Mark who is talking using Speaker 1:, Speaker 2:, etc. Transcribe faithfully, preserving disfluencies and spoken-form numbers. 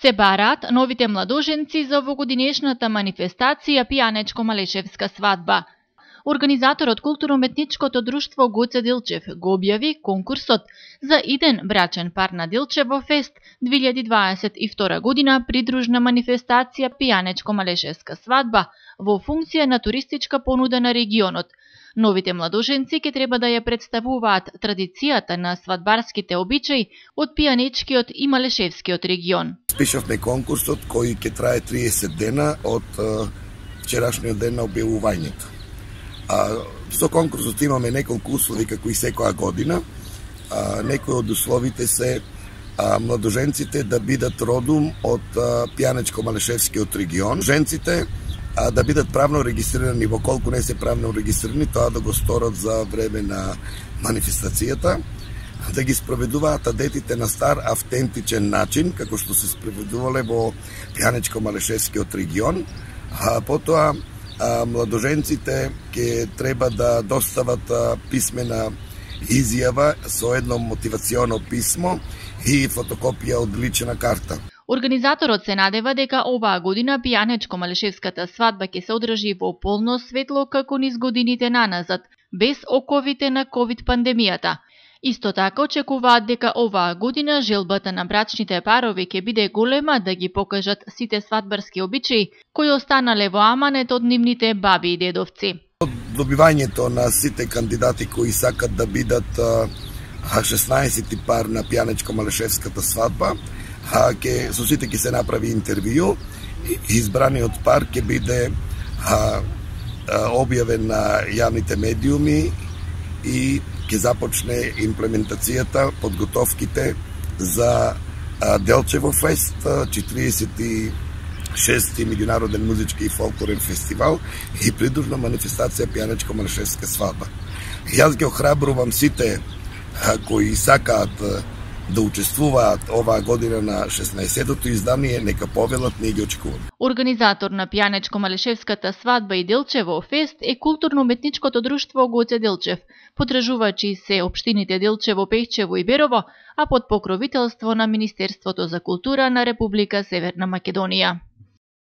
Speaker 1: Се бараат новите младоженци за овогодинешната манифестација Пијанечко-малешевска свадба. Организаторот културно-уметничкото друштво Гоце Делчев го објави конкурсот за иден брачен пар на Делчево фест две илјади дваесет и втора година, придружна манифестација Пијанечко-малешевска свадба во функција на туристичка понуда на регионот. Новите младоженци ќе треба да ја представуваат традицијата на свадбарските обичаи од пијанечкиот и малешевскиот регион.
Speaker 2: Спишавме конкурсот кој ќе трае триесет дена од вчерашниот ден на објавувањето. А, со конкурсот имаме неколку услови како и секоја година. А, некои од условите се а, младоженците да бидат родум од Пијанечко-малешевскиот регион. Женците а, да бидат правно регистрирани, во колку не се правно регистрирани, тоа да го сторат за време на манифестацијата, да ги спроведуваат адетите на стар автентичен начин, како што се спроведувале во Пијанечко-малешевскиот регион. А потоа а, младоженците ќе треба да достават а, писмена изјава со едно мотивационо писмо и фотокопија од лична карта.
Speaker 1: Организаторот се надева дека оваа година Пијанечко-малешевската свадба ќе се одржи во полно светло како низ годините наназад, без оковите на ковид пандемијата. Исто така очекуваат дека оваа година желбата на брачните парови ќе биде голема да ги покажат сите свадбарски обичаи кои останале во аманет од нивните баби и дедовци.
Speaker 2: Од добивањето на сите кандидати кои сакат да бидат шеснаесети пар на Пијанечко-малешевската свадба, а ке со сите ќе се направи интервју и избраниот пар ќе биде а, а, објавен на јавните медиуми и ќе започне имплементацијата, подготовките за а, Делчево фест, четириесет и шести меѓународен музички и фолклорен фестивал и придружна манифестација Пијанечко-малешевска свадба. Јас ги охрабрувам сите а, кои сакаат да учествуваат оваа година на шеснаесеттото издание, нека повелат, ние ги очекуваме.
Speaker 1: Организатор на Пијанечко-малешевската свадба и Делчево фест е културно-уметничкото друштво Гоце Делчев. Потрежувачи се општините Делчево, Пејчево и Берово, а под покровителство на Министерството за култура на Република Северна Македонија.